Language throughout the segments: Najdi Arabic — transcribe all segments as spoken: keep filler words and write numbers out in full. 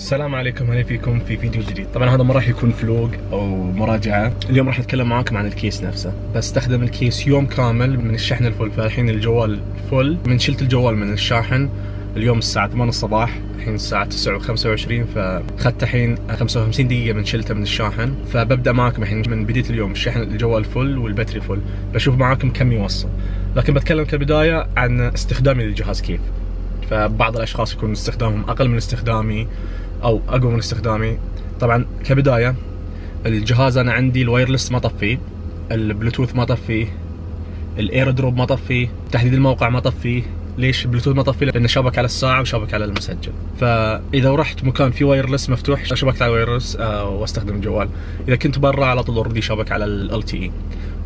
السلام عليكم، هلا فيكم في فيديو جديد. طبعا هذا ما راح يكون فلوج او مراجعه، اليوم راح نتكلم معاكم عن الكيس نفسه. بستخدم الكيس يوم كامل من الشحن الفل، فالحين الجوال فل من شلت الجوال من الشاحن اليوم الساعه ثمانية الصباح، الحين الساعه تسعة وخمسة وعشرين، فاخذت الحين خمسة وخمسين دقيقه من شلته من الشاحن. فببدا معاكم الحين من بدايه اليوم، الشحن الجوال فل والبتري فل، بشوف معاكم كم يوصل. لكن بتكلم كبدايه عن استخدامي للجهاز كيف. فبعض الاشخاص يكون استخدامهم اقل من استخدامي او اقوى من استخدامي. طبعا كبدايه الجهاز انا عندي الوايرلس ما طفيه، البلوتوث ما طفيه، الاير دروب ما طفيه، تحديد الموقع ما طفيه. ليش البلوتوث ما طفيه؟ لانه شابك على الساعه وشابك على المسجل. فاذا رحت مكان فيه وايرلس مفتوح شبكت على الوايرلس آه واستخدم الجوال. اذا كنت برا على طول اوريدي شابك على ال تي اي.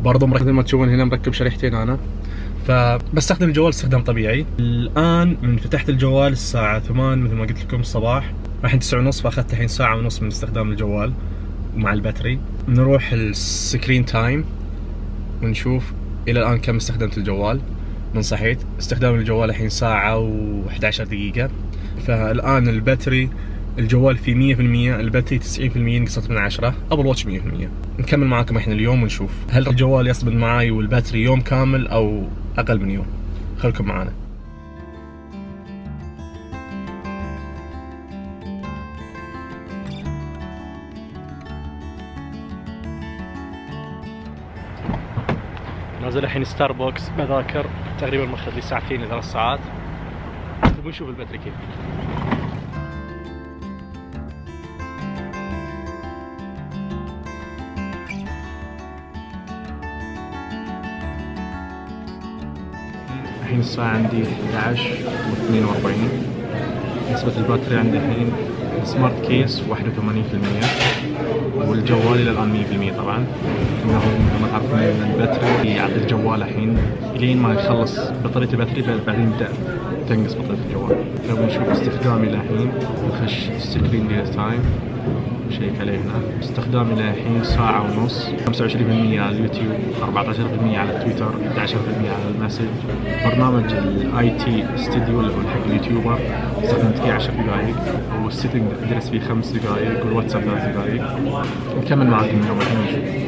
برضه مركب، ما تشوفون هنا مركب شريحتين انا، فبستخدم الجوال استخدام طبيعي. الان من فتحت الجوال الساعه ثمانية مثل ما قلت لكم الصباح، الحين تسعة ونص، فاخذت الحين ساعه ونص من استخدام الجوال ومع الباتري. نروح السكرين تايم ونشوف الى الان كم استخدمت الجوال من صحيت. استخدام الجوال الحين ساعه وإحدى عشرة دقيقه. فالان الباتري الجوال فيه مية بالمية، الباتري تسعين بالمية، نقصت من عشرة، ابل واتش مية بالمية. نكمل معاكم الحين اليوم ونشوف هل الجوال يصمد معاي والباتري يوم كامل او اقل من يوم. خلكم معانا. نازل الحين ستاربكس بذاكر، تقريبا ماخذ لي ساعتين لثلاث ساعات. نبغى نشوف الباتري كيف. الحين الساعة عندي إحدى عشر واثنين وأربعين. نسبة الباتري عندي الحين السمارت كيس واحد وثمانين بالمية، والجوال إلى الآن مية بالمية. طبعا إنه مثل ما تعرفون إن الباتري يعطي الجوال الحين لين ما يخلص بطارية الباتري، بعدين يبدأ تنقص بطارية الجوال. لو بنشوف استخدامي للحين، نخش سكرين تايم شيك عليه هنا. استخدامي للحين ساعة ونص، خمسة وعشرين بالمية على اليوتيوب، أربعة عشر بالمية على تويتر، إحدى عشر بالمية على المسج. برنامج الاي تي ستوديو اللي هو حق اليوتيوبر استخدمت فيه عشر دقائق، والسيتنج درست فيه خمس دقائق، والواتساب ثلاث دقائق. نكمل معاكم اليوم الحين نشوف.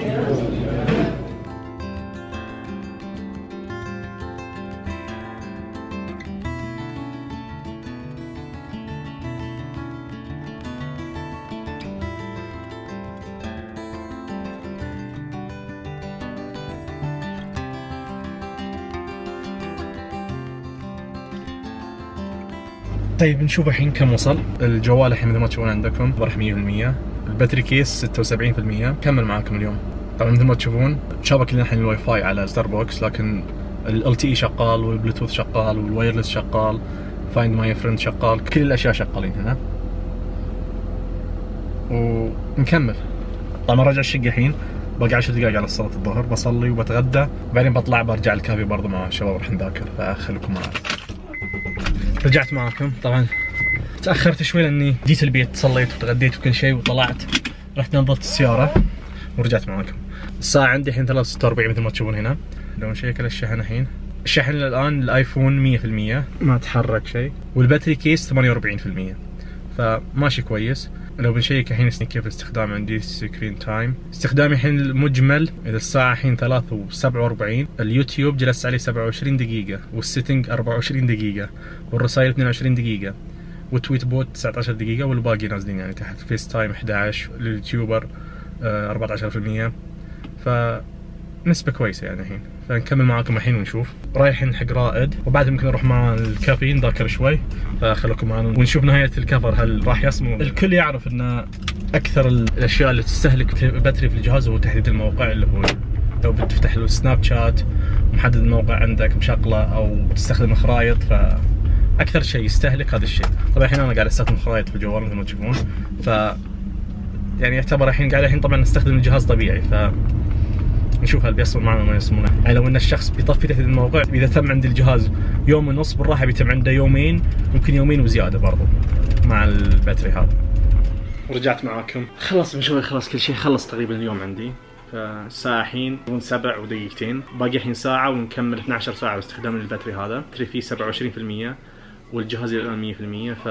طيب نشوف الحين كم وصل. الجوال الحين مثل ما تشوفون عندكم راح مية بالمية، الباتري كيس ستة وسبعين بالمية. كمل معاكم اليوم. طبعا مثل ما تشوفون شابك لنا الحين الواي فاي على ستاربكس، لكن ال تي اي شغال، والبلوتوث شغال، والوايرلس شغال، فايند ماي فريند شغال، كل الاشياء شغالين هنا. ونكمل. طبعا راجع الشقه الحين، باقي عشر دقائق على صلاة الظهر، بصلي وبتغدى، بعدين بطلع برجع الكافي برضه مع الشباب راح نذاكر، فخليكم معي. رجعت معاكم. طبعا تاخرت شوي لاني جيت البيت، صليت وتغديت وكل شيء وطلعت، رحت نظفت السياره ورجعت معاكم. الساعه عندي الحين ثلاثة وستة وأربعين مثل ما تشوفون هنا. لو نشيك على الشحن الحين، الشحن الان الايفون مية بالمية، ما تحرك شيء، والباتري كيس ثمانية وأربعين بالمية، فماشي كويس. لو بنشيك الحين كيف الاستخدام عندي، سكرين تايم، استخدامي الحين المجمل اذا الساعه الحين ثلاثة وسبعة وأربعين، اليوتيوب جلست عليه سبعة وعشرين دقيقه، والسيتنج أربعة وعشرين دقيقه، والرسائل اثنين وعشرين دقيقه، والتويت بوت تسعة عشر دقيقه، والباقي نازلين يعني تحت. فيس تايم إحدى عشر، لليوتيوبر أربعة عشر بالمية، فنسبه كويسه يعني الحين. فنكمل معاكم الحين ونشوف. رايحين حق رائد، وبعد ممكن نروح مع الكافي نذاكر شوي، فخليكم معنا ونشوف نهايه الكفر هل راح يصمم. الكل يعرف ان اكثر الاشياء اللي تستهلك باتري في الجهاز هو تحديد الموقع، اللي هو لو بتفتح له السناب شات ومحدد الموقع عندك مشغله، او بتستخدم خرائط، فاكثر شيء يستهلك هذا الشيء. طبعا الحين انا قاعد استخدم خرائط في الجوال مثل ما تشوفون، ف يعني يعتبر الحين قاعد الحين طبعا نستخدم الجهاز طبيعي، ف نشوف هل بيصمم معنا ولا ما يصمم. يعني لو ان الشخص بيطفي تحديد الموقع، اذا تم عند الجهاز يوم ونص، بالراحه بيتم عنده يومين، ممكن يومين وزياده برضو مع الباتري هذا. ورجعت معاكم، خلص بنشوي، خلص كل شيء خلص تقريبا اليوم عندي. فالساعة الحين سبع ودقيقتين، باقي الحين ساعة ونكمل اثني عشر ساعة باستخدام الباتري هذا. الباتري فيه سبعة وعشرين بالمية والجهاز الآن مية بالمية، ف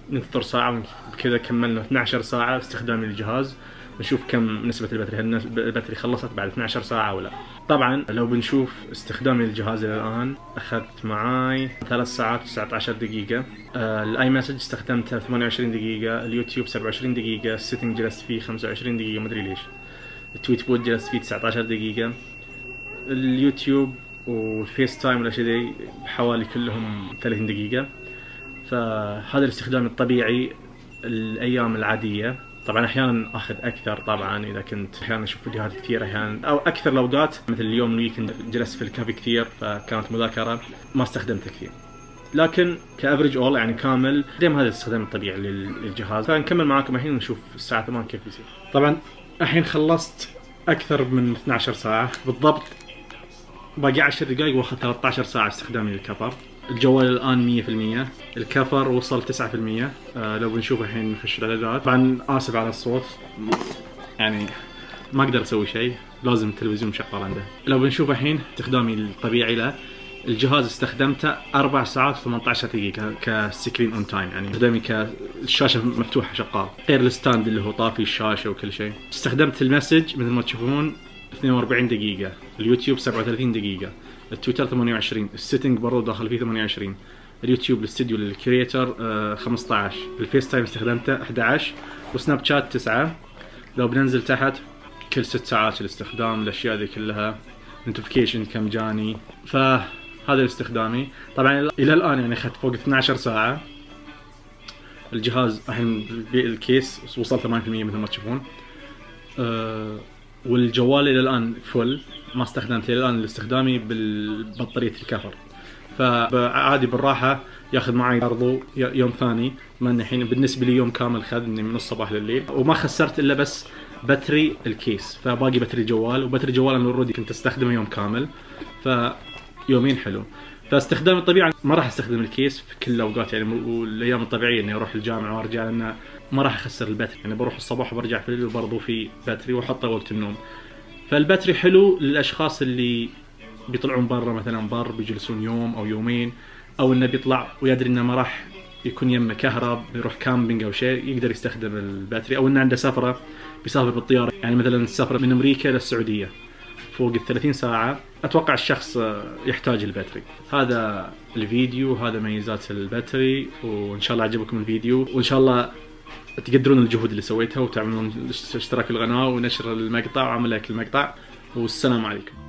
ننتظر ساعة بكذا كملنا اثنتي عشرة ساعة استخدام الجهاز، نشوف كم نسبة البطارية، هل البطارية خلصت بعد اثنتي عشرة ساعة أو لا. طبعا لو بنشوف استخدامي للجهاز إلى الآن أخذت معاي ثلاث ساعات وتسعة عشر دقيقة. آه الآي مسج استخدمتها ثمانية وعشرين دقيقة، اليوتيوب سبعة وعشرين دقيقة، السيتنج جلست فيه خمسة وعشرين دقيقة مدري ليش، التويت بوت جلست فيه تسعة عشر دقيقة، اليوتيوب والفيس تايم والأشياء دي بحوالي كلهم ثلاثين دقيقة. فهذا الاستخدام الطبيعي الأيام العادية. طبعا احيانا اخذ اكثر طبعا اذا كنت احيانا اشوف فيديوهات كثير، احيانا او اكثر الاوقات مثل اليوم الويكند جلست في الكافي كثير فكانت مذاكره ما استخدمته كثير. لكن كافريج اول يعني كامل دائما هذا الاستخدام الطبيعي للجهاز. فنكمل معاكم الحين ونشوف الساعه ثمانية كيف بيصير. طبعا الحين خلصت اكثر من اثنتي عشرة ساعه بالضبط، باقي عشر دقائق واخذ ثلاثة عشر ساعه استخدامي للكفر. الجوال الان مية بالمية، الكفر وصل تسعة بالمية. آه لو بنشوف الحين نخش الاعدادات. طبعا اسف على الصوت يعني ما اقدر اسوي شيء، لازم التلفزيون مشغل عنده. لو بنشوف الحين استخدامي الطبيعي له، الجهاز استخدمته أربع ساعات وثمانية عشر دقيقة كسكرين اون تايم، يعني استخدامي كالشاشة مفتوحة شغال، غير الستاند اللي هو طافي الشاشة وكل شيء. استخدمت المسج مثل ما تشوفون اثنين وأربعين دقيقة، اليوتيوب سبعة وثلاثين دقيقة، التويتر ثمانية وعشرين، السيتنج برضه داخل فيه ثمانية وعشرين، اليوتيوب الاستديو للكرييتر آه خمسة عشر، الفيس تايم استخدمته أحد عشر، وسناب شات تسعة. لو بننزل تحت كل ست ساعات الاستخدام، الاشياء ذي كلها، نوتيفيكيشن كم جاني. فهذا استخدامي. طبعا الى الان يعني اخذت فوق اثنتي عشرة ساعة. الجهاز الحين الكيس وصل ثمانية بالمية مثل ما تشوفون. أه والجوال الى الان فل، ما استخدمت الى الان لاستخدامي بالبطارية الكفر. فعادي بالراحة ياخذ معي برضو يوم ثاني، ما الحين بالنسبة لي يوم كامل خذني من الصباح لليل، وما خسرت الا بس باتري الكيس. فباقي باتري الجوال، وباتري الجوال انا اوريدي كنت استخدمه يوم كامل، فيومين حلو. فاستخدام الطبيعي ما راح استخدم الكيس في كل الاوقات يعني، والايام الطبيعية اني اروح الجامعة وارجع، لان ما راح اخسر الباتري يعني، بروح الصباح وبرجع في الليل وبرضو في باتري واحطه وقت النوم. فالباتري حلو للاشخاص اللي بيطلعون برا مثلا بر بيجلسون يوم او يومين، او انه بيطلع ويدري انه ما راح يكون يمه كهرب، بيروح كامبينج او شيء يقدر يستخدم الباتري، او انه عنده سفره بيسافر بالطياره يعني مثلا السفره من امريكا للسعوديه فوق الثلاثين ساعه، اتوقع الشخص يحتاج الباتري. هذا الفيديو، هذا ميزات الباتري، وان شاء الله عجبكم الفيديو، وان شاء الله تقدرون الجهود اللي سويتها وتعملون اشتراك القناه ونشر المقطع وعمل لايك المقطع، والسلام عليكم.